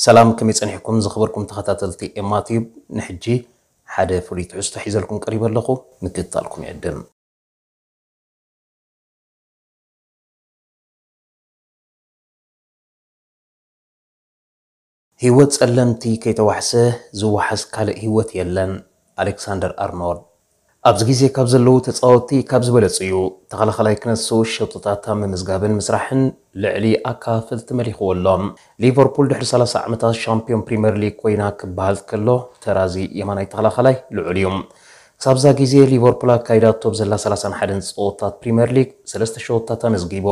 ሰላም፣ ከመይ ጸኒሕኩም ዝኸበርኩም ተኸታተልቲ ኤማ ቲዩብ? ንሕጂ ሓደ ፍሉይ ትሕዝቶ ሒዘልኩም ቀሪበ ኣለኹ፣ ምክትታልኩም ይዕድም። ህይወት ጸለምቲ ከይተዋሕሰ ዝወሓስ ካልእ ህይወት የለን። ኣሌክሳንደር ኣርኖልድ ኣብዚ ግዜ ካብ ዘለዉ ተጻወትቲ ካብ ዝበለጹ እዩ። ተኸላኸላይ ክነሱ ሸቶታት ኣብ ምምዝጋብን ምስራሕን ልዕሊ ኣካፍልቲ መሊኽዎ ኣሎ። ሊቨርፑል ድሕሪ ሰላሳ ዓመታት ሻምፒዮን ፕሪምየር ሊግ ኮይና ክበሃል ከሎ፣ ተራዚ የማናይ ተኸላኸላይ ልዑል እዩ። ክሳብዛ ግዜ ሊቨርፑል ኣካይዳቶ ብዘላ ሰላሳን ሓደን ጸወታት ፕሪምየር ሊግ ሰለስተ ሸቶታት ኣመዝጊቡ።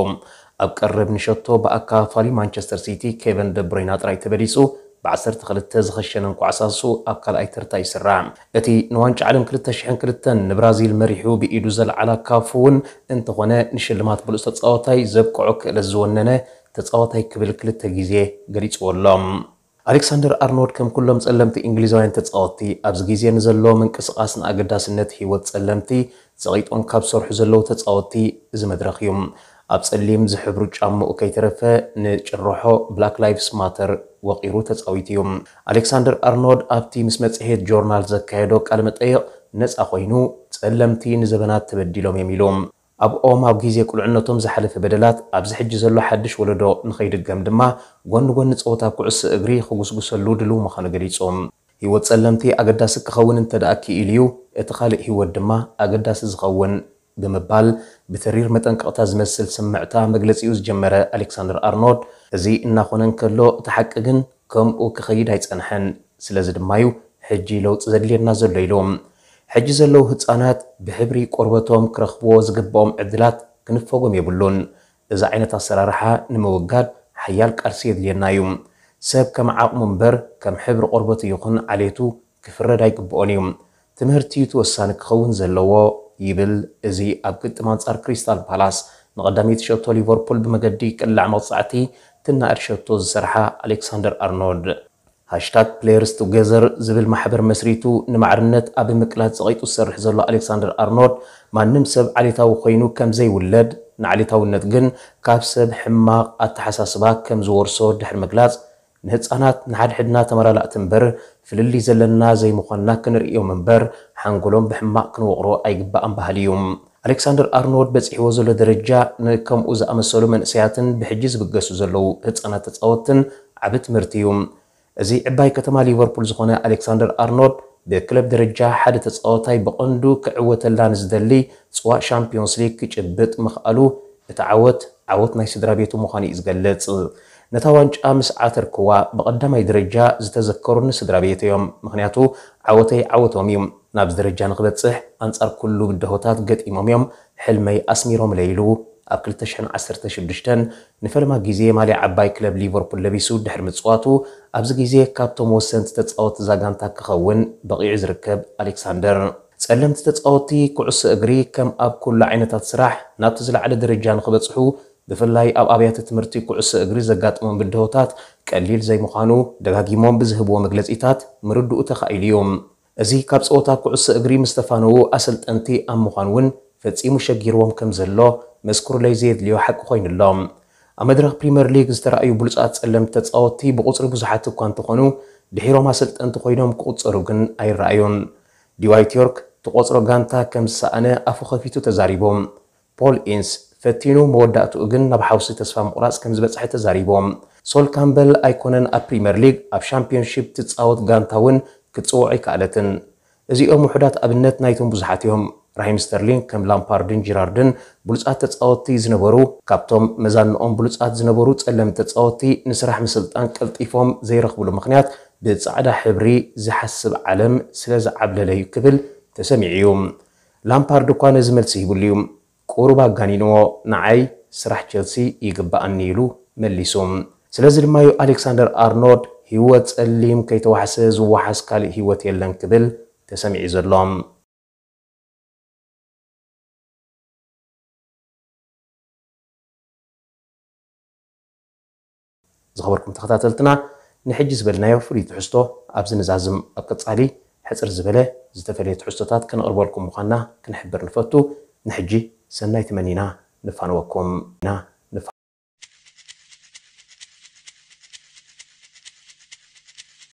ኣብ ቀረብ ንሸቶ ብኣካፋሊ ማንቸስተር ሲቲ ኬቨን ደብሮይና ጥራይ ተበሊጹ፣ ብ12 ዝኸሸነ እንቋዕ ሳሱ ኣብ ካልኣይ ተርታ ይስራዕ። እቲ ንዋንጫ ዓለም ክልተ ሽሕን ክልተን ንብራዚል መሪሑ ብኢዱ ዘልዓላ ካፉ እውን እንተኾነ፣ ንሽልማት ብሉጽ ተጻዋታይ ዘብቅዖ ክእለት ዝወነነ ተጻዋታይ ክብል ክልተ ግዜ ገሊጽዎ ኣሎ። ኣሌክሳንደር ኣርኖልድ ከም ኩሎም ጸለምቲ እንግሊዛውያን ተጻወትቲ ኣብዚ ግዜ ንዘሎ ምንቅስቓስ ንኣገዳስነት ህይወት ጸለምቲ ጸቒጦም ካብ ዝሰርሑ ዘለዉ ተጻወትቲ እዚ መድረኽ እዩ። ኣብ ጸሊም ዝሕብሩ ጫምኡ ከይተረፈ ንጭርሖ ብላክ ላይቭስ ማተር ወቒሩ ተጻዊቱ እዩ። ኣሌክሳንደር ኣርኖልድ ኣብቲ ምስ መጽሔት ጆርናል ዘካየዶ ቃለ መጠይቕ ነጻ ኮይኑ፣ ጸለምቲ ንዘበናት ተበዲሎም እዮም ኢሉ። ኣብኦም ኣብ ግዜ ቁልዕነቶም ዝሓለፈ በደላት ኣብዚ ሕጂ ዘሎ ሓድሽ ወለዶ ንኸይድገም ድማ ጎኒ ጎኒ ጸወታ ኩዕሶ እግሪ ክጉስጉሰሉ ድሉው ምዃኑ ገሊጹ። ህይወት ጸለምቲ ኣገዳሲ ክኸውን እንተ ደኣ ክኢሉ እዩ፣ እቲ ካልእ ህይወት ድማ ኣገዳሲ ዝኸውን ብምባል ብተሪር መጠንቀቕታ ዝመስል ስምዕታ መግለጺኡ ዝጀመረ ኣሌክሳንደር ኣርኖልድ፣ እዚ እናኾነ እንከሎ እቲ ሓቂ ግን ከምኡ ክኸይድ ኣይጸንሐን። ስለዚ ድማ እዩ ሕጂ ለውጢ ዘድልየና ዘሎ ኢሉ። ሕጂ ዘለዉ ህጻናት ብሕብሪ ቆርበቶም ክረኽብዎ ዝግብኦም ዕድላት ክንፈጎም የብሉን። እዚ ዓይነት ኣሰራርሓ ንምውጋድ ሓያል ቃልሲ የድልየና እዩ። ሰብ ከም ዓቕሙ እምበር ከም ሕብሪ ቆርበቱ ይኹን ዓሌቱ ክፍረድ ኣይግብኦን እዩ። ትምህርቲ እዩ እቲ ወሳኒ ክኸውን ዘለዎ ይብል እዚ ኣብ ግጥም ኣንጻር ክሪስታል ፓላስ ንቐዳመይቲ ሸቶ ሊቨርፑል ብመገዲ ቅላዕ መቕጻዕቲ ትናኣድ ሸቶ ዝሰርሓ ኣሌክሳንደር ኣርኖልድ። ሃሽታግ ፕሌየርስ ቱጌዘር ዝብል ማሕበር መስሪቱ ንማዕርነት ኣብ ምቅላስ ጸቒጡ ዝሰርሕ ዘሎ ኣሌክሳንደር ኣርኖልድ፣ ማንም ሰብ ዓሌታዊ ኮይኑ ከም ዘይውለድ፣ ንዓሌታውነት ግን ካብ ሰብ ሕማቕ ኣተሓሳስባ ከም ዝወርሶ ድሕሪ ምግላጽ፣ ንህጻናት ንሓድሕድና ተመላላእቲ እምበር ፍልልይ ዘለና ዘይምዃንና ክንርእዮም እምበር ሓንጎሎም ብሕማቕ ክንወቕሮ ኣይግባእን በሃሊ እዩ። ኣሌክሳንደር ኣርኖልድ በጺሕዎ ዘሎ ደረጃ ንከምኡ ዝኣመሰሉ መንእሰያትን ብሕጂ ዝብገሱ ዘለዉ ህጻናት ተጻወትትን ዓቢ ትምህርቲ እዩ። እዚ ዕባይ ከተማ ሊቨርፑል ዝኾነ ኣሌክሳንደር ኣርኖልድ ብክለብ ደረጃ ሓደ ተጻዋታይ ብቐንዱ ክዕወተላ ንዝደሊ ጽዋእ ሻምፒዮንስ ሊግ ክጭብጥ ምኽኣሉ እቲ ዓወት፣ ዓወት ናይ ስድራ ቤቱ ምዃኑ እዩ ዝገልጽ። ነታ ዋንጫ ምስ ዓተርክዋ ብቐዳማይ ደረጃ ዝተዘከሩኒ ስድራ ቤት እዮም። ምኽንያቱ ዓወተይ ዓወቶም እዩ። ናብዚ ደረጃ ንክበጽሕ ኣንጻር ኩሉ ብድሆታት ገጢሞም እዮም። ሕልመይ ኣስሚሮምለይ ኢሉ ኣብ ክልተ ሽሕን ዓሰርተ ሽዱሽተን ንፈለማ ግዜ ማልያ ዓባይ ክለብ ሊቨርፑል ለቢሱ ድሕሪ ምጽዋቱ፣ ኣብዚ ግዜ ካብቶም ወሰንቲ ተጻወትቲ እዛ ጋንታ ክኸውን በቒዑ ዝርከብ ኣሌክሳንደር። ጸለምቲ ተጻወትቲ ኩዕሶ እግሪ ከም ኣብ ኩሉ ዓይነታት ስራሕ ናብቲ ዝለዓለ ደረጃ ንክበጽሑ፣ ብፍላይ ኣብ ኣብያተ ትምህርቲ ኩዕሶ እግሪ ዘጋጥሞም ብድሆታት ቀሊል ዘይምዃኑ ደጋጊሞም ብዝህብዎ መግለጺታት ምርድኡ ተኻኢሉ እዩ። እዚ ካብ ጸወታ ኩዕሶ እግሪ ምስ ተፋነዉ ኣሰልጠንቲ ኣብ ምዃን እውን ፈጺሙ ሸጊርዎም ከም ዘሎ መስክሩለይ ዘየድልዮ ሓቂ ኮይኑ ኣሎ። ኣብ መድረኽ ፕሪምየር ሊግ ዝተራእዩ ብሉጻት ጸለምቲ ተጻወትቲ ብቑጽሪ ብዙሓት እኳ እንተኾኑ፣ ድሒሮም ኣሰልጠንቲ ኮይኖም ክቑጸሩ ግን ኣይረኣዩን። ዲዋይት ዮርክ ትቖጽሮ ጋንታ ከም ዝሰኣነ ኣፉ ከፊቱ ተዛሪቡ። ፖል ኢንስ ፈቲኑ፣ መወዳእትኡ ግን ናብ ሓውሲ ተስፋ ምቑራጽ ከም ዝበጽሐ ተዛሪቦም። ሶል ካምበል ኣይኮነን ኣብ ፕሪምየር ሊግ፣ ኣብ ሻምፒዮንሺፕ ትጻወት ጋንታ እውን ክትጽውዖ ኣይከኣለትን። እዚኦም ውሑዳት ኣብነት ናይቶም ብዙሓት እዮም። ራሂም ስተርሊንግ ከም ላምፓርድን ጂራርድን ብሉጻት ተጻወትቲ ዝነበሩ፣ ካብቶም መዛንኦም ብሉጻት ዝነበሩ ጸለምቲ ተጻወትቲ ንስራሕ ምስልጣን ቀልጢፎም ዘይረኽብሉ ምኽንያት ብጻዕዳ ሕብሪ ዝሓስብ ዓለም ስለ ዝዓብለለ እዩ ክብል ተሰሚዑ እዩ። ላምፓርድ እኳ ነዚ መልሲ ሂብሉ እዩ። ቁሩብ ኣጋኒንዎ፣ ንዓይ ስራሕ ቸልሲ ይግብኣኒ ኢሉ መሊሱ። ስለዚ ድማ እዩ ኣሌክሳንደር ኣርኖልድ ህይወት ጸሊም ከይተዋሕሰ ዝወሓስ ካልእ ህይወት የለን ክብል ተሰሚዑ ዘሎ። ዝኸበርኩም ተኸታተልትና፣ ንሕጂ ዝበልናዮ ፍሉይ ትሕዝቶ ኣብዚ ንዛዝም። ኣብ ቀጻሊ ሕጽር ዝበለ ዝተፈለየ ትሕዝቶታት ከነቕርበልኩም ምዃንና ክንሕብር ንፈቱ። ንሕጂ ሰናይ ተመኒና ንፋነወኩም ኢና።